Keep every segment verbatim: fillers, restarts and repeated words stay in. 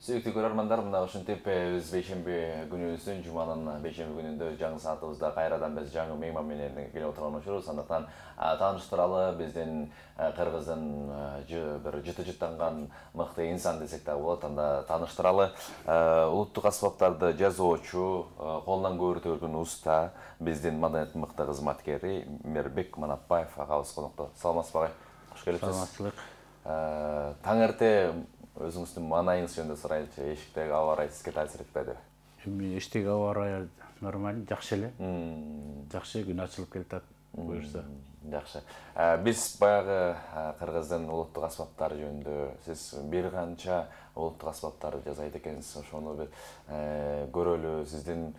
Сүйүктүү көрөрмандар, мына ушинтип биз бейшемби күнүбүздүн жуманын бейшемби күнүндө жаңы саатыбызда кайрадан биз жаңы мейман менен келип отурган учурубуз. Андыктан тааныштыралы биздин Кыргыздын бир жыты жыттанган мыкты инсан десек да болот. Анда тааныштыралы улуттук аспаптарды жазуучу, колунан көбүртө өргөн уста, биздин маданияттын мыкты кызматкери Мээрбек Манапбаев агабыз конокто. Саламатсызбы агай? Кош келипсиз. Саламатчылык. Таң эрте өзүңүздүн маанайыңыз жөнүндө сурайынчы. Эшиктеги аба ырайы сизге таасир этпеди? Эми эшиктеги аба ырайы нормаль, жакшы эле. Жакшы, күн ачылып келатат, буюрса. Жакшы. Биз баягы Кыргыздын улуттук аспаптары жөнүндө сиз бир канча улуттук аспаптарды жасайт экенсиз. Ошону бир көрөлү. Сиздин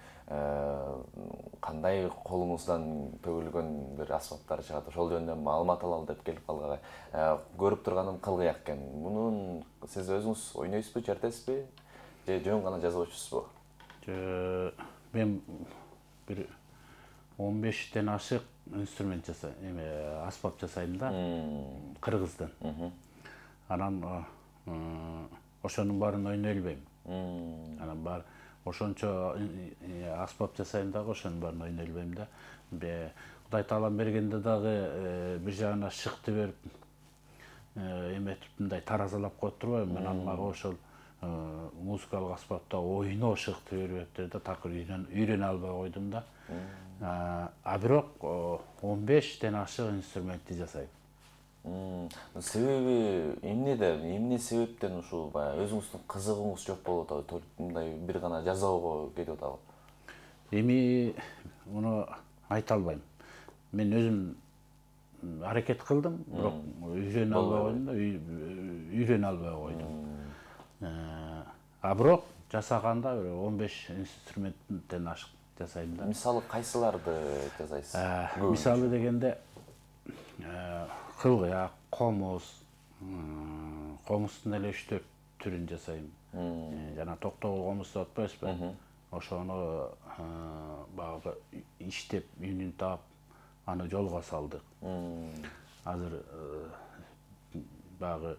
кандай колуңуздан төгүлгөн бир аспаптар чыгат. Ошол жөнүндө маалымат алалы деп келип калган. Көрүп турганым кылгыяк экен. Мунун сиз өзүңүз ойнойсузбу, чертесизби? Же жөн гана жазуучусузбу? Мен бир он бештен ашык инструмент жасайм, эме аспап жасайм да, кыргыздан. Анан ошонун баарын ойной элбейм. Анан бар ошончо аспап жасайм дагы, ошонун баарын ойной элбейм да. Кудай таалам бергенде дагы бир жагына шыкты берип, эметип мындай таразалап коюп турбайбы. Мен мага ошол музыкалык аспапта ойноо шыкты берип да, такыр үйрөнө албай койдум да. А бирок он бештен ашык инструментти жасайм. Себеби эмнеде, эмне себептен ушул баягы өзүңүздүн кызыгыңыз жок болуп атабы? Мындай бир гана жасоого кетип атабы? Эми муну айта албайм. Мен өзүм аракет кылдым, бирок үйрөнө албай койдум да, үйрөнө албай койдум. А бирок жасаганда бир он беш инструменттен ашык жасайм да. Мисалы кайсыларды жасайсыз? Мисалы дегенде кылгыяк, комуз, комуздун эле үч төрт түрүн жасайм. Жана токтогул комуз деп атпайбызбы? Ошону багы иштеп, үнүн таап, аны жолго салдык. Азыр багы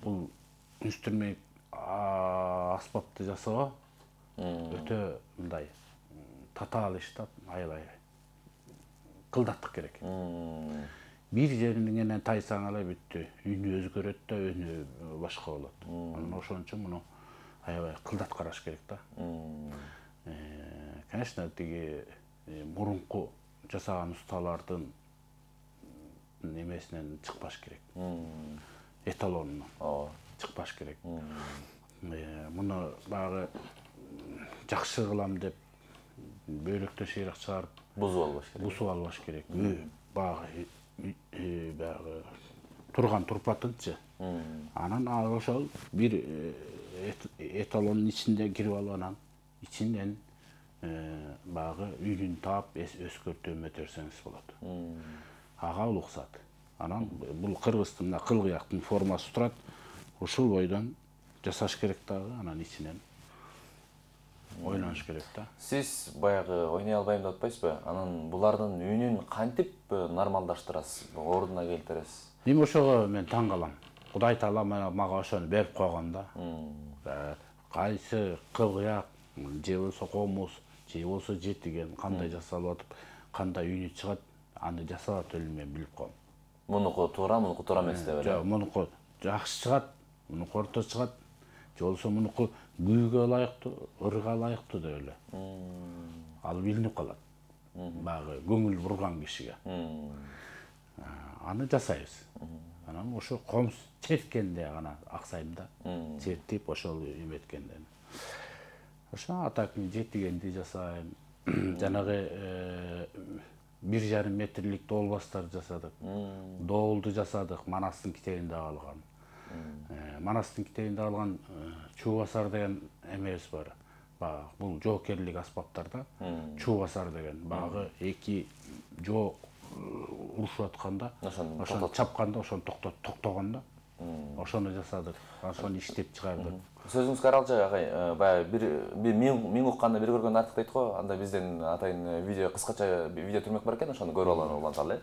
бул инструмент аспапты жасоо өтө мындай татаал иш да, аябай кылдаттык керек. Бир жеринен тайсаң эле бүттү, үнү өзгөрөт да, өнү башка болот. Анан ошон үчүн муну аябай кылдат караш керек да. Конечно, тиги мурунку жасаган усталардын немесинен чыкпаш керек. Эталонунан чыкпаш керек. Муну багы жакшы кылам деп бөйлөктө шыйрак чыгарып бузуп албаш керек. Бузуп албаш керек. Багы багы турган турпатынчы. Анан ошол бир эталондун ичинде кирип алып, анан ичинен багы үнүн таап өскөртүп өтөрсөңүз болот. Ага улуксат. Анан бул кыргыздын мына кылгыяктын формасы турат. Ушул бойдон жасаш керек дагы, анан ичинен ойнош керек да. Сиз баягы ойной албайм деп атпайсызбы? Анан булардын үнүн кантип нормалдаштырасыз, ордуна келтиресиз? Эми ошого мен таң калам. Кудай таала мага ошону берип койгон да. Кайсы кылгыяк, же болсо комуз, же болсо жетиген кандай жасалып атып, кандай үнү чыгат, аны жасап эле мен билип коем. Мунуку туура, мунуку туура эмес деп эле. Жок, мунуку жакшы чыгат, мунуку орто чыгат, же болсо мунуку күүгө ылайыктуу, ырга ылайыктуу деп эле. Ал билинип калат. Багы көңүл бурган кишиге. Аны жасайбыз. Анан ошо комуз черткенде гана аксайм да. Чертип ошол эметкенде. Ошо атак жетигенди жасайм. Жанагы бир жарым метрлик доолбастар жасадык. Доолду жасадык, Манастын китебинде алган. Манастын китебинде алган чуубасар деген эмебиз бар. Багы бул жоокерлик аспаптарда чуубасар деген багы эки жоо урушуп атканда, ошону чапканда, ошону токтогондо ошону жасадык. Ошону иштеп чыгардык. Сөзүңүзгө аралчы агай, баягы бир миң укканды бир көргөн артык дейт го. Анда бизден атайын видео, кыскача видео түрмөк бар экен, ошону көрүп алган уланталы.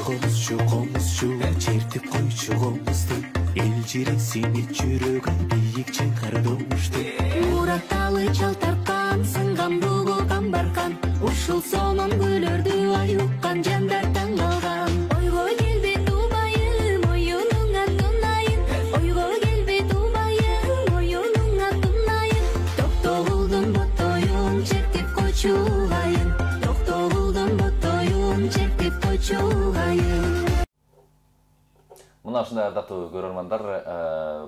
комузчу комузчу чертип койчу комузду эл жиресини жүрөгүн бийик чыңкырдымышты муратталы чал тарткан сынган ругу камбаркан ушул сонун күйлөрдү ай уккан жандар таң калган ойго келбейт убайым оюнуңа тунайын ойго келбейт убайым оюнуңа тунайын токтогулдун боттоюн чертип койчу айын токтогулдун боттоюн чертип койчу айын. Мына ушундай ардактуу көрөрмандар,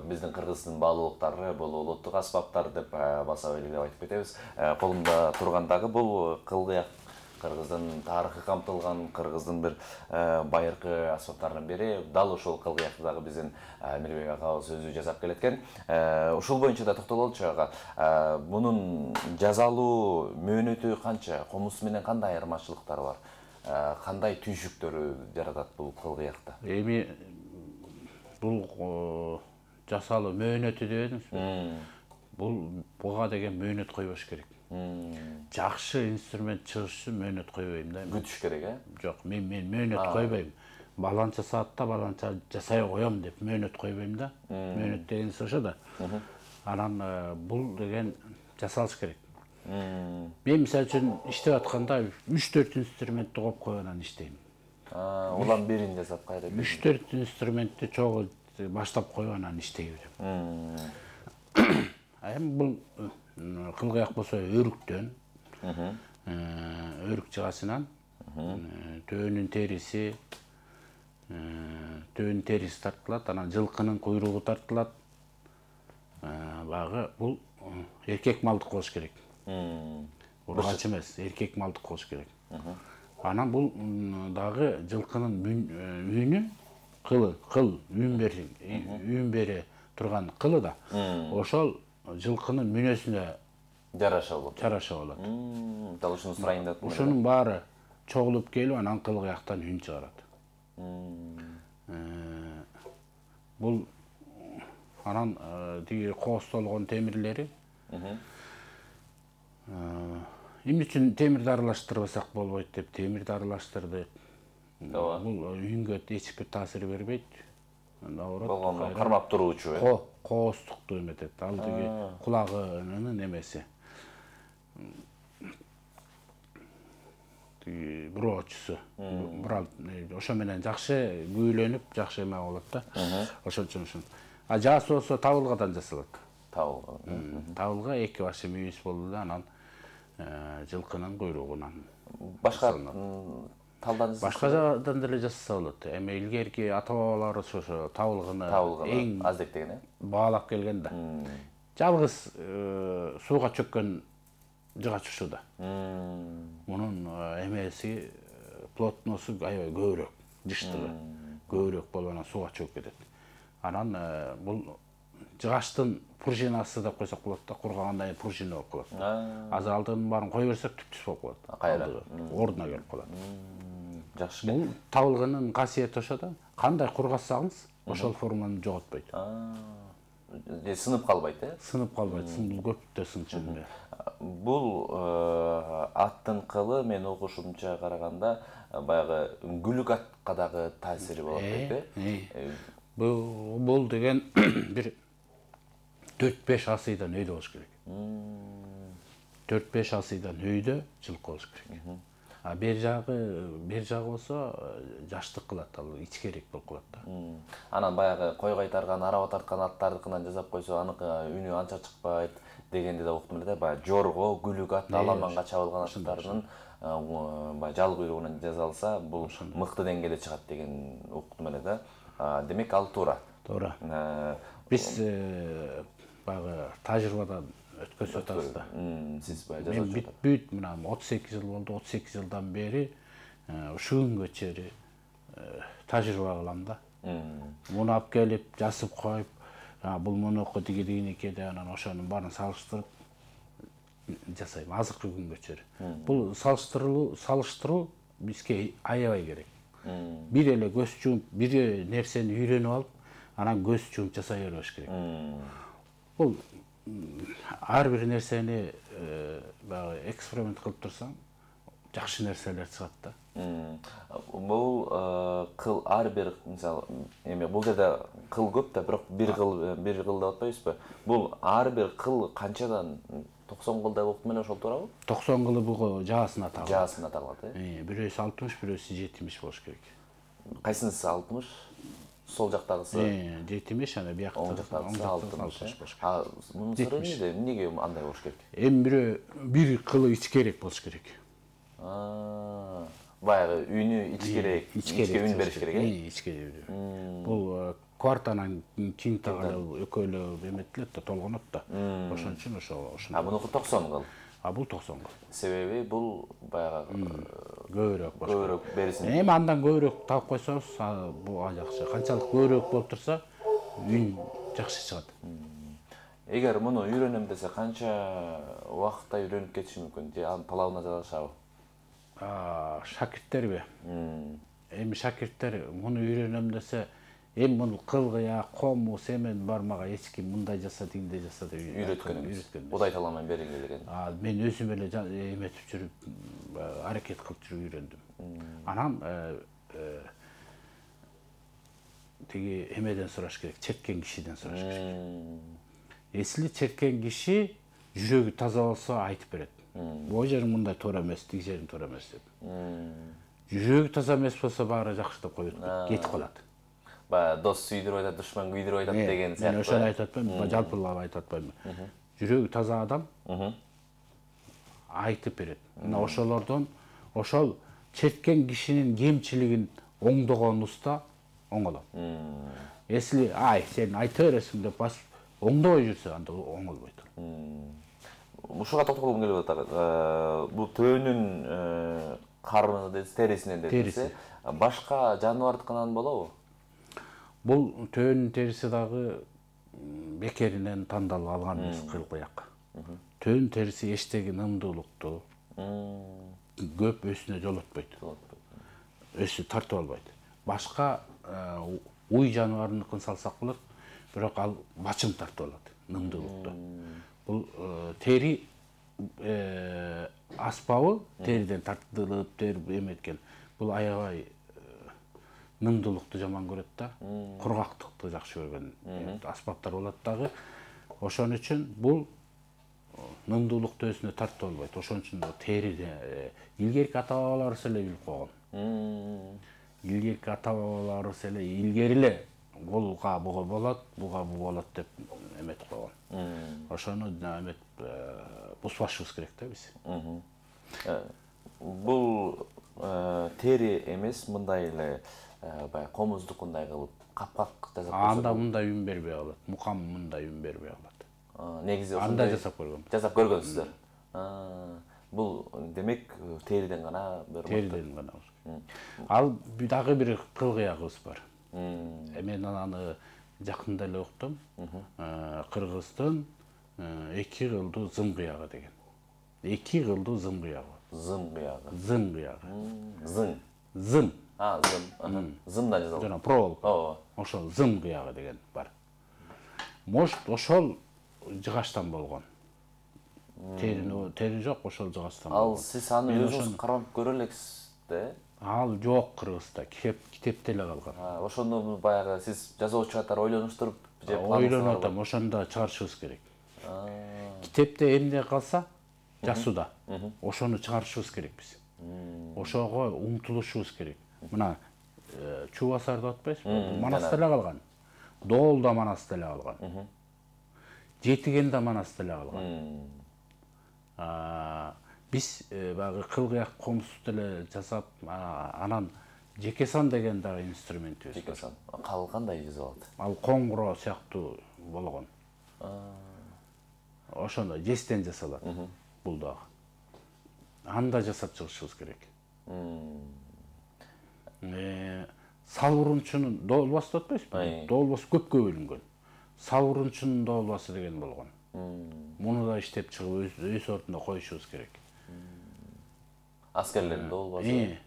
биздин кыргыздын баалуулуктары бул улуттук аспаптар деп баса белгилеп айтып кетебиз. Колумда тургандагы бул кылгыяк кыргыздын тарыхы камтылган, кыргыздын бир байыркы аспаптарынын бири. Дал ушул кылгыякты дагы биздин Мирбек акабыз өзү жасап келеткен. Ушул боюнча да токтололчу ага. Мунун жазалуу мөөнөтү канча, комуз менен кандай айырмачылыктары бар? Кандай түйшүктөрү жаратат бул кылгыякта? Эми бул жасалуу мөөнөтү дедиңизби? Бул буга деген мөөнөт койбош керек. Жакшы инструмент чыгыш үчүн мөөнөт койбойм да. Күтүш керек, э? Жок, мен мен мөөнөт койбойм. Баланча саатта баланча жасай коем деп мөөнөт койбойм да. Мөөнөт дегенси ошо да. Анан бул деген жасалыш керек. Мен мисалы үчүн иштеп атканда үч төрт инструментти коюп коюп анан иштейм. Улам бирин жасап кайра. үч төрт инструментти чогуу баштап коюп анан иштей берем. Эми бул кылгыяк болсо өрүктөн, өрүк жыгасынан төөнүн териси, төөнүн териси тартылат, анан жылкынын куйругу тартылат. Багы бул эркек малдык болуш керек. Ургач эмес, эркек малдык болуш керек. Анан бул дагы жылкынын үнү, кылы, кыл, үн берин, үн бере турган кылы да. Ошол жылкынын мүнөсүнө жараша болот. Жараша болот. Дал ушуну сурайын деп. Ушунун баары чогулуп келип анан кылгыяктан үн чыгарат. Бул анан тиги коостолгон темирлери эмне үчүн темирди аралаштырбасак болбойт деп темирди аралаштырдык. Бул үнгө эч бир таасир бербейт. Болгону кармап туруучу, э? Ко, кооздукту эметет. Ал тиги кулагынын эмеси. Тиги броочусу. Брал, ошо менен жакшы күүлөнүп, жакшы эме болот да. Ошол үчүн ушун. А жаасы болсо табылгадан жасалат. Табылга. Табылга эки башы мүйүз болду да, анан жылкынын куйругунан. Башка талдан башка жагдан деле жасаса болот. Эми илгерки ата-бабаларыбыз ошо табылгыны эң аз деген, э? Баалап келген да. Жалгыз сууга чөккөн жыгач ушу да. Мунун эмеси плотносу аябай көбүрөөк, жыштыгы көбүрөөк болуп анан сууга чөгүп кетет. Анан бул жыгачтын пружинасы деп койсок болот да, кургагандан кийин пружина болуп калат. Азыр алдын баарын кое берсек түп-түз болуп калат. Кайра ордуна келип калат. Жакшы. Бул табылгынын касиети ошо да. Кандай кургасаңыз, ошол форманы жоготпойт. Сынып калбайт, э? Сынып калбайт. Бул көптө сынчу эме. Бул аттын кылы мен окушумча караганда баягы үңгүлүк атка дагы таасири болот дейт, э? Бул бул деген бир төрт беш асыйдан өйдө болуш керек. төрт беш асыйдан өйдө жылкы болуш керек. А бер жагы, бер жагы болсо жаштык кылат, ал ичкерээк болуп калат да. Анан баягы кой кайтарган, араба тарткан аттардыкынан жасап койсо, аныкы үнү анча чыкпайт дегенди да уктум эле да. Баягы жорго, күлүк ат, аламанга чабылган аттардын баягы жал куйругунан жасалса, бул мыкты деңгээлде чыгат деген уктум эле да. Демек ал туура. Туура. Биз баягы тажрыйбадан өткөзүп атабыз да. Сиз баягы жасап жатасыз. Мен бүт мына отуз эки жыл болду, отуз эки жылдан бери ушул күнгө чейин тажрыйба кылам да. Муну алып келип, жасып коюп, бул мунуку тиги дегенеке деп анан ошонун баарын салыштырып жасайм азыркы күнгө чейин. Бул салыштыруу, салыштыруу бизге аябай керек. Бир эле көз жумуп, бир нерсени үйрөнүп алып, анан көз жумуп жасай бербеш керек. Бул ар бир нерсени баягы эксперимент кылып турсаң, жакшы нерселер чыгат да. Бул кыл ар бир мисалы эме бул жерде кыл көп да, бирок бир кыл бир кыл деп атпайбызбы? Бул ар бир кыл канчадан токсон кылдай болуп менен ошол туурабы? токсон кылы буга жаасына тагылат. Жаасына тагылат, э? Бирөөсү алтымыш, бирөөсү жетимиш болуш керек. Кайсынысы алтымыш? Сол жактагысы? Э, жетимиш, ана биякта жактагысы алтымыш болуш керек. А мунун сыры эмнеде? Эмнеге андай болуш керек? Эми бирөө бир кылы ичкерээк болуш керек. А, баягы үнү ичкерээк, ичке үн бериш керек, э? Ичке. Бул квартанан кийин тагы экөөлөө эметилет да, толгонот да. Ошон үчүн ошо ошондой. А мунуку токсон кыл. А бул токсон кыл. Себеби бул баягы көбүрөөк болуш. Көбүрөөк берсин. Эми андан көбүрөөк таап койсоңуз, бул жакшы. Канчалык көбүрөөк болуп турса, үн жакшы чыгат. Эгер муну үйрөнөм десе, канча убакытта үйрөнүп кетиши мүмкүн? Же анын талабына жарашабы? А, шакирттерби? Эми шакирттер муну үйрөнөм десе, эми муну кылгыя, кому, семен бармага эч ким мындай жаса, тигиндей жаса деп үйрөткөн эмес. Будай таламан берилге деген. А, мен өзүм эле эметип жүрүп, аракет кылып жүрүп үйрөндүм. Анан тиги эмеден сураш керек, черткен кишиден сураш керек. Эсли черткен киши жүрөгү таза болсо айтып берет. Бул жериң мындай туура эмес, тиги жериң туура эмес деп. Жүрөгү таза эмес болсо баары жакшы деп коюп кетип калат. Баягы дос сүйдүрүп айтат, душман күйдүрүп айтат деген сыяктуу. Мен ошону айтып атпайм, жалпылап айтып атпайм. Жүрөгү таза адам айтып берет. Мына ошолордон ошол черткен кишинин кемчилигин оңдогон уста оңолот. Эсли ай сен айта бересиң деп басып оңдобой жүрсө, анда оңолбойт. Ушуга токтолгум келип атат. Бул төөнүн карыны дедиз, терисинен дедиз. Башка жаныбардыкынан болобу? Бул төөнүн териси дагы бекеринен тандалып алган эмес, кылкыяк. Төөнүн териси эчтеги нымдуулукту көп өсүнө жолотпойт. Өсү тартып албайт. Башка уй жаныбарыныкын салсак болот, бирок ал бачым тартып алат, нымдуулукту. Бул тери аспабы, териден тартылып, терип эметкен. Бул аябай нымдуулукту жаман көрөт да, кургактыкты жакшы көргөн аспаптар болот дагы. Ошон үчүн бул нымдуулукту өзүнө тартып албайт. Ошон үчүн териде илгерки ата бабаларыбыз эле билип койгон. Илгерки ата бабаларыбыз эле илгери эле голга буга болот, буга бу болот деп эметип койгон. Ошону эмет бузбашыбыз керек да биз. Бул тери эмес, мындай эле баягы комуздукундай кылып капкак жасап койсо. Анда мындай үн бербей калат. Мукам мындай үн бербей калат. Негизи анда жасап көргөм. Жасап көргөнсүздөр. Бул демек териден гана бир териден гана. Ал дагы бир кылгыягыбыз бар. Мен аны жакында эле уктум. Кыргыздын эки кылдуу зым кыягы деген. Эки кылдуу зым кыягы. Зым кыягы. Зым кыягы. Зың. Зым. А, зым. Зымдан жасалган. Жана проволока. Ооба. Ошол зым кыягы деген бар. Может, ошол жыгачтан болгон. Терини, тери жок, ошол жыгачтан болгон. Ал сиз аны өзүңүз карап көрө элексиз да? Ал жок Кыргызда, китепте эле калган. Ошондо баягы сиз жазуучу катары ойлонуштуруп же ойлонуп атам, ошондо чыгарышыбыз керек. Китепте эмне калса, жазууда, ошону чыгарышыбыз керек биз. Ошого умтулушубуз керек. Мына Чубасар деп атпайсызбы? Манаста эле калган. Доол да Манаста эле калган. Жетиген да Манаста эле калган. Биз баягы кылгыяк комузду эле жасап, анан жекесан деген дагы инструментибиз бар. Жекесан. Кал кандай жасалат? Ал коңгуро сыяктуу болгон. Ошондо жестен жасалат бул дагы. Анда жасап чыгышыбыз керек. Салбурунчунун доолбасы деп атпайсызбы? Доолбасы көпкө бөлүнгөн. Салбурунчунун доолбасы деген болгон. Муну да иштеп чыгып өз ордуна коюшубуз керек. Аскерлердин доолбасы.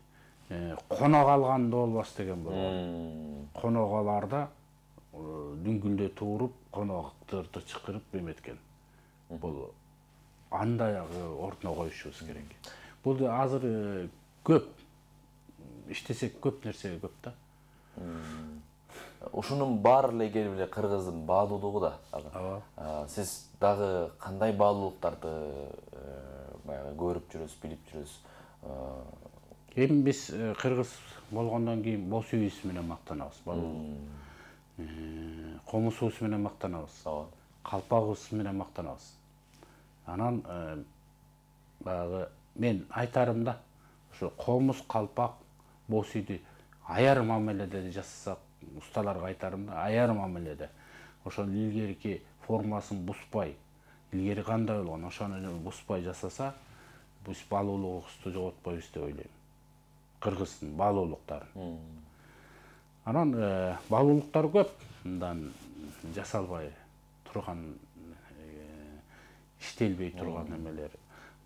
Конок алган доолбасы деген болгон. Коноголарда дүңгүлдө туруп, конокторду чакырып эметкен. Бул андай ордуна коюшубуз керек. Бул азыр көп иштесек көп нерсе көп да. Ушунун баары эле келип эле кыргыздын баалуулугу да. Ага. Сиз дагы кандай баалуулуктарды баягы көрүп жүрөсүз, билип жүрөсүз? Эми биз кыргыз болгондон кийин боз үйүбүз менен мактанабыз. Комузубуз менен мактанабыз. Калпагыбыз менен мактанабыз. Анан баягы мен айтарым да, ошо комуз, калпак, боз үйдү аяр мамиледе жасасак, усталарга айтарым да, аяр мамиледе. Ошол илгерки формасын бузбай, илгери кандай болгон, ошону бузбай жасаса, биз баалуулугубузду жоготпойбуз деп ойлойм. Кыргыздын баалуулуктарын. Анан баалуулуктар көп, мындан жасалбай турган, иштелбей турган эмелер.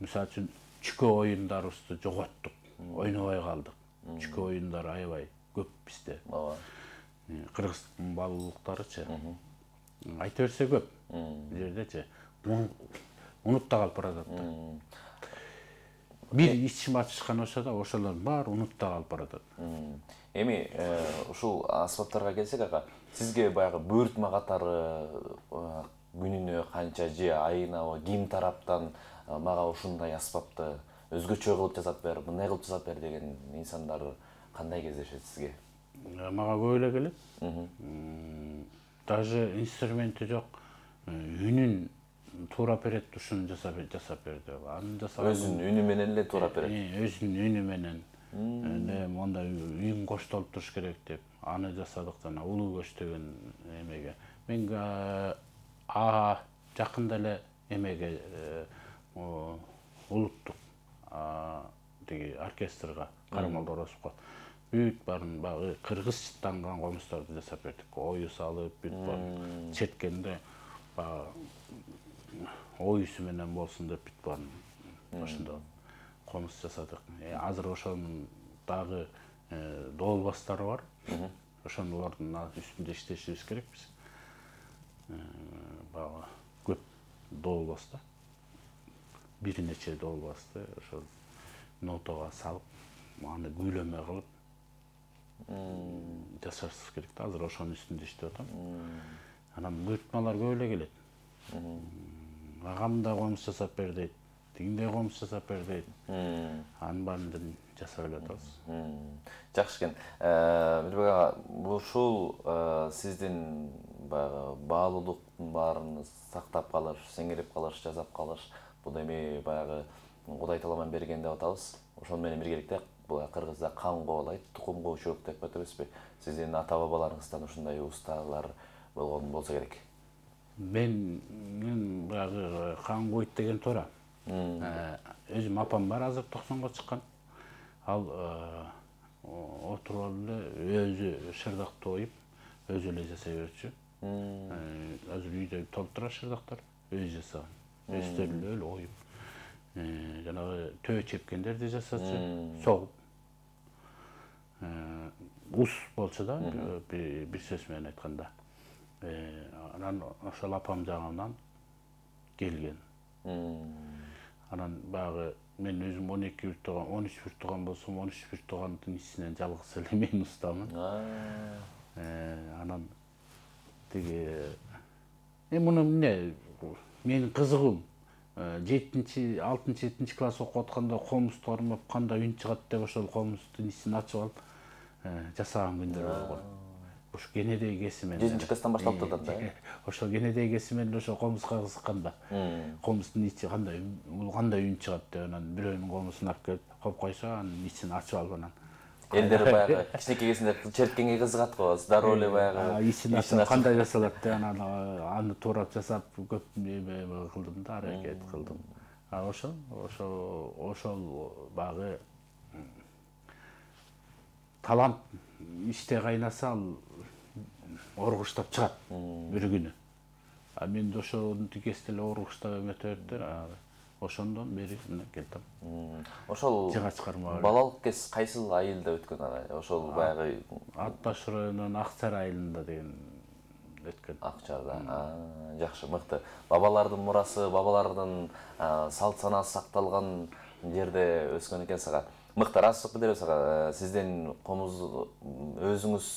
Мисалы үчүн чүкө оюндарыбызды жоготтук, ойнобой калдык. Чүкө оюндары аябай көп бизде. Кыргыздын баалуулуктарычы. Айта берсе көп. Бул жердечи унутта калып баратат да. Бир ичим ачышкан болсо да, ошолордун баары унутта калып баратат. Эми ушул аспаптарга келсек, ага, сизге баягы буйртма катары күнүнө канча же айына ким тараптан мага ушундай аспапты өзгөчө кылып жасап бер, мындай кылып жасап бер деген инсандар кандай кездешет сизге? Мага көп эле келет. Даже инструменти жок, үнүн туура берет, ушуну жасап жасап бер деп. Аны жасап өзүнүн үнү менен эле туура берет. Өзүнүн үнү менен. Эне монда үйүң коштолуп туруш керек деп, аны жасадык жана улуу көч деген эмеге. Мен а жакында эле эмеге улуттук тиги оркестрга Карамал Орозовго бүт барын багы кыргызчаттанган комуздарды жасап бердик. Ою салып, бүт барын четкенде багы оюсу менен болсун деп бүт барын ошондо комуз жасадык. Азыр ошонун дагы доолбастары бар. Ошонун үстүндө иштешибиз керек биз. Багы көп доолбас да. Бир нече доолбасты ошол нотага салып, аны күйлөмө кылып жасашыбыз керек да. Азыр ошонун үстүндө иштеп атам. Анан буйртмалар көп эле келет. Агам да комуз жасап бер дейт, тигиндей комуз жасап бер дейт. Анын баарын жасап эле атабыз. Жакшы экен. Мирбек ага, ушул сиздин баягы баалуулуктун баарын сактап калыш, сеңирип калыш, жасап калыш, бул эми баягы Кудай таламан берген деп атабыз. Ошол менен биргеликте бул кыргызда кан кобалайт, тукум коочулук деп атабызбы? Сиздин ата бабаларыңыздан ушундай усталар болгон болсо керек. Мен баягы кан койт деген туура. Өзүм апам бар, азыр токсонго чыккан. Ал отуруп эле өзү шырдакты оюп, өзү эле жасай берчү. Азыр үйдө толтура шырдактар, өзү жасаган. Өздөрү эле оюп. Жанагы төө чепкендерди жасачу, согуп. Ус болчу да, бир сөз менен айтканда. Анан ошол апам жагынан келген. Анан баягы мен өзүм он эки бир тууган, он үч бир тууган болсом, он үч бир туугандын ичинен жалгыз эле мен устамын. Анан тиги эми муну эмне менин кызыгуум жетинчи, алтынчы, жетинчи класс окуп атканда комузду кармап кандай үн чыгат деп ошол комуздун ичин ачып алып жасаган күндөр болгон. Ушу кенедей кесимен. жетинчи класстан башталып турат да. Ошол кенедей кесимен ошо комузга кызыкканда. Комуздун ичи кандай, бул кандай үн чыгат деп анан бирөөнүн комузун алып келип коюп койсо, анын ичин ачып алып анан элдер баягы кичинекей кезинде черткенге кызыгат го, дароо эле баягы ичин ачып кандай жасалат деп анан аны туурап жасап көп эме кылдым да, аракет кылдым. А ошол ошол ошол багы талант иште кайнаса ал оргуштап чыгат бир күнү. А мен ошону тигесте эле оргуштап эметиптер, ошондон бери мына келдим. Ошол балалык кез кайсыл айылда өткөн ага? Ошол баягы Ат Баш районунун Акчар айылында деген өткөн. Акчарда. Жакшы, мыкты. Бабалардын мурасы, бабалардын салт санасы сакталган жерде өскөн экенсиз ага. Мыкты, ырастык билдиребиз ага. Сиздин комуз өзүңүз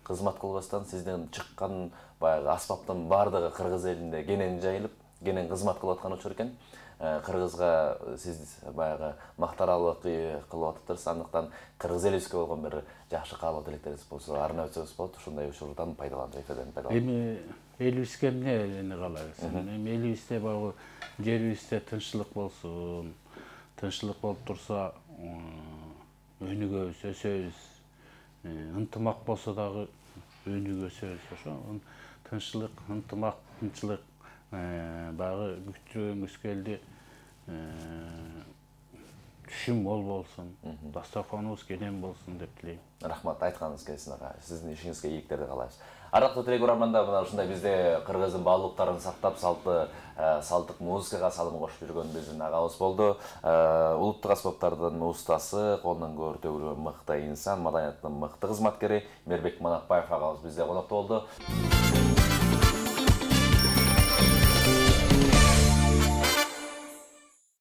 кызмат кылбастан сизден чыккан баягы аспаптын баардыгы кыргыз элинде кенен жайылып, кенен кызмат кылып аткан учур экен. Кыргызга сиз баягы мактаралык кылып атыптырсыз. Андыктан кыргыз элибизге болгон бир жакшы каалоо тилектериңиз болсо арнап өтсөңүз болот. Ушундай учурдан пайдаланып, эфирден пайдаланып. Эми элибизге эмне каалайбыз? Эми элибизде баягы жерибизде тынччылык болсун. Тынччылык болуп турса, өнүгөбүз, өсөбүз. Ынтымак болсо дагы өнүгөсөбүз. Ошо тынччылык, ынтымак, тынччылык баягы күтүүбүз келди. Түшүм мол болсун, дастарханыбыз кенен болсун деп тилейм. Рахмат, айтканыңыз келсин ага. Сиздин ишиңизге ийгиликтерди каалайбыз. Арактуу телеграмманда мына ушундай бизде кыргыздын баалуулуктарын сактап, салты, салттык музыкага салым кошуп жүргөн биздин агабыз болду. Улуттук аспаптардын устасы, колунан көөр төгүлгөн мыкты инсан, маданияттын мыкты кызматкери Мээрбек Манакбаев агабыз бизде конокто болду.